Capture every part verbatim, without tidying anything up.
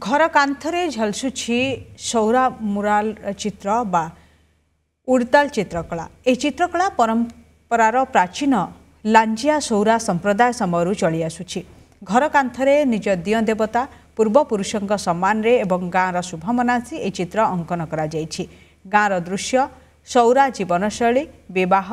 ଘର କାନ୍ଥରେ ଝଲସୁଛି ସୌରା ମୁରାଲ ଚିତ୍ର ବା ଉଡ଼ତାଲ ଚିତ୍ରକଳା। ଏହି ଚିତ୍ରକଳା ପରମ୍ପରାର ପ୍ରାଚୀନ ଲାଞ୍ଜିଆ ସୌରା ସମ୍ପ୍ରଦାୟ ସମୟରୁ ଚଳି ଆସୁଛି। ଘର କାନ୍ଥରେ ନିଜ ଦିଅଁ ଦେବତା, ପୂର୍ବପୁରୁଷଙ୍କ ସମ୍ମାନରେ ଏବଂ ଗାଁର ଶୁଭ ମନାସି ଏହି ଚିତ୍ର ଅଙ୍କନ କରାଯାଇଛି। ଗାଁର ଦୃଶ୍ୟ, ସୌରା ଜୀବନଶୈଳୀ, ବିବାହ,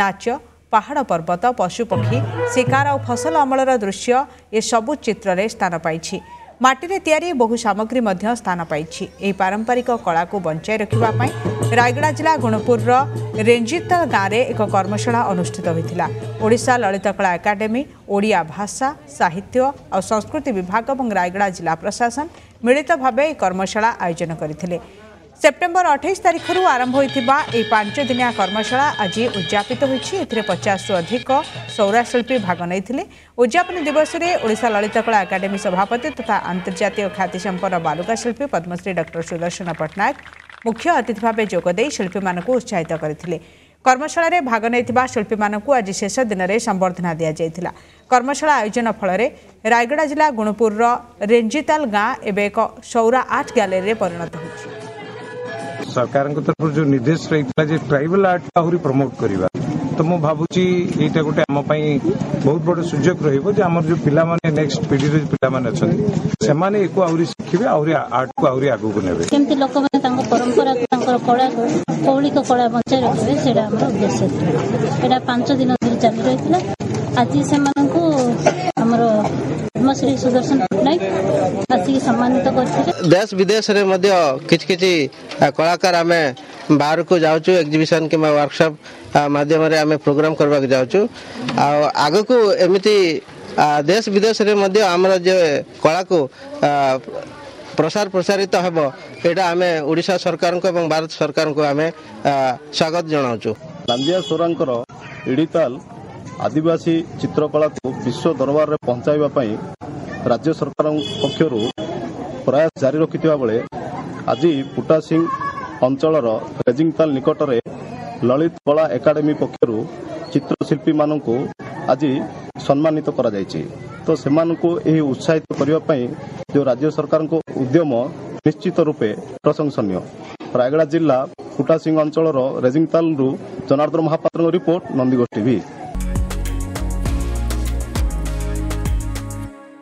ନାଚ, ପାହାଡ଼ ପର୍ବତ, ପଶୁପକ୍ଷୀ, ଶିକାର ଆଉ ଫସଲ ଅମଳର ଦୃଶ୍ୟ ଏସବୁ ଚିତ୍ରରେ ସ୍ଥାନ ପାଇଛି। ମାଟିରେ ତିଆରି ବହୁ ସାମଗ୍ରୀ ମଧ୍ୟ ସ୍ଥାନ ପାଇଛି। ଏହି ପାରମ୍ପରିକ କଳାକୁ ବଞ୍ଚାଇ ରଖିବା ପାଇଁ ରାୟଗଡ଼ା ଜିଲ୍ଲା ଗୁଣପୁରର ରେଞ୍ଜିତାଲ ଗାଁରେ ଏକ କର୍ମଶାଳା ଅନୁଷ୍ଠିତ ହୋଇଥିଲା। ଓଡ଼ିଶା ଲଳିତକଳା ଏକାଡେମୀ, ଓଡ଼ିଆ ଭାଷା, ସାହିତ୍ୟ ଆଉ ସଂସ୍କୃତି ବିଭାଗ ଏବଂ ରାୟଗଡ଼ା ଜିଲ୍ଲା ପ୍ରଶାସନ ମିଳିତ ଭାବେ ଏହି କର୍ମଶାଳା ଆୟୋଜନ କରିଥିଲେ। ସେପ୍ଟେମ୍ବର ଅଠେଇଶ ତାରିଖରୁ ଆରମ୍ଭ ହୋଇଥିବା ଏହି ପାଞ୍ଚ ଦିନିଆ କର୍ମଶାଳା ଆଜି ଉଦ୍ଯାପିତ ହୋଇଛି। ଏଥିରେ ପଚାଶରୁ ଅଧିକ ସୌରାଶିଳ୍ପୀ ଭାଗ ନେଇଥିଲେ। ଉଦ୍ଯାପନୀ ଦିବସରେ ଓଡ଼ିଶା ଲଳିତକଳା ଏକାଡେମୀ ସଭାପତି ତଥା ଆନ୍ତର୍ଜାତୀୟ ଖ୍ୟାତିସମ୍ପନ୍ନ ବାଲୁକା ଶିଳ୍ପୀ ପଦ୍ମଶ୍ରୀ ଡକ୍ଟର ସୁଦର୍ଶନ ପଟ୍ଟନାୟକ ମୁଖ୍ୟ ଅତିଥି ଭାବେ ଯୋଗଦେଇ ଶିଳ୍ପୀମାନଙ୍କୁ ଉତ୍ସାହିତ କରିଥିଲେ। କର୍ମଶାଳାରେ ଭାଗ ନେଇଥିବା ଶିଳ୍ପୀମାନଙ୍କୁ ଆଜି ଶେଷ ଦିନରେ ସମ୍ବର୍ଦ୍ଧନା ଦିଆଯାଇଥିଲା। କର୍ମଶାଳା ଆୟୋଜନ ଫଳରେ ରାୟଗଡ଼ା ଜିଲ୍ଲା ଗୁଣପୁରର ରେଞ୍ଜିତାଲ ଗାଁ ଏବେ ଏକ ସୌରା ଆର୍ଟ ଗ୍ୟାଲେରୀରେ ପରିଣତ ହୋଇଛି। ସରକାରଙ୍କ ତରଫରୁ ଯୋଉ ନିର୍ଦ୍ଦେଶ ରହିଥିଲା ଯେ ଟ୍ରାଇବାଲ ଆର୍ଟ ଆହୁରି ପ୍ରମୋଟ କରିବା, ତ ମୁଁ ଭାବୁଛି ଏଇଟା ଗୋଟେ ଆମ ପାଇଁ ବହୁତ ବଡ ସୁଯୋଗ ରହିବ ଯେ ଆମର ଯୋଉ ପିଲାମାନେ, ନେକ୍ସଟ ପିଢିର ଯୋଉ ପିଲାମାନେ ଅଛନ୍ତି, ସେମାନେ ଏକୁ ଆହୁରି ଶିଖିବେ, ଆହୁରି ଆର୍ଟକୁ ଆହୁରି ଆଗକୁ ନେବେ। କେମିତି ଲୋକମାନେ ତାଙ୍କ ପରମ୍ପରାକୁ, ତାଙ୍କର କଳାକୁ, ମୌଳିକ କଳା ବଞ୍ଚାଇ ରଖିବେ, ସେଇଟା ଆମର ଉଦ୍ଦେଶ୍ୟ ଥିଲା। ଏଇଟା ପାଞ୍ଚ ଦିନ ଧରି ଚାଲି ରହିଥିଲା। ଆଜି ସେମାନଙ୍କୁ ଆମର ପଦ୍ମଶ୍ରୀ ସୁଦର୍ଶନ ପଟ୍ଟନାୟକ ଆସିକି ସମ୍ମାନିତ କରିଥିଲେ। ଦେଶ ବିଦେଶରେ ମଧ୍ୟ କିଛି କିଛି କଳାକାର ଆମେ ବାହାରକୁ ଯାଉଛୁ, ଏକ୍ଜିବିସନ କିମ୍ବା ୱାର୍କସପ୍ ମାଧ୍ୟମରେ ଆମେ ପ୍ରୋଗ୍ରାମ କରିବାକୁ ଯାଉଛୁ। ଆଉ ଆଗକୁ ଏମିତି ଦେଶ ବିଦେଶରେ ମଧ୍ୟ ଆମର ଯେ କଳାକୁ ପ୍ରସାର ପ୍ରସାରିତ ହେବ, ଏଇଟା ଆମେ ଓଡ଼ିଶା ସରକାରଙ୍କୁ ଏବଂ ଭାରତ ସରକାରଙ୍କୁ ଆମେ ସ୍ୱାଗତ ଜଣାଉଛୁ। ଲାଞ୍ଜିଆ ସୋରାଙ୍କର ଇଡ଼ିତାଲ ଆଦିବାସୀ ଚିତ୍ରକଳାକୁ ବିଶ୍ୱ ଦରବାରରେ ପହଞ୍ଚାଇବା ପାଇଁ ରାଜ୍ୟ ସରକାରଙ୍କ ପକ୍ଷରୁ ପ୍ରୟାସ ଜାରି ରଖିଥିବା ବେଳେ ଆଜି ପୁଟାସିଂ ଅଞ୍ଚଳର ରେଜିଂତାଲ ନିକଟରେ ଲଳିତ କଳା ଏକାଡେମୀ ପକ୍ଷରୁ ଚିତ୍ରଶିଳ୍ପୀମାନଙ୍କୁ ଆଜି ସମ୍ମାନିତ କରାଯାଇଛି। ତ ସେମାନଙ୍କୁ ଏହି ଉତ୍ସାହିତ କରିବା ପାଇଁ ଯେଉଁ ରାଜ୍ୟ ସରକାରଙ୍କ ଉଦ୍ୟମ ନିଶ୍ଚିତ ରୂପେ ପ୍ରଶଂସନୀୟ। ରାୟଗଡ଼ା ଜିଲ୍ଲା ପୁଟାସିଂ ଅଞ୍ଚଳର ରେଜିଂତାଲରୁ ଜନାର୍ଦ୍ଦନ ମହାପାତ୍ରଙ୍କ ରିପୋର୍ଟ, ନନ୍ଦିଘୋଷ ଟିଭି।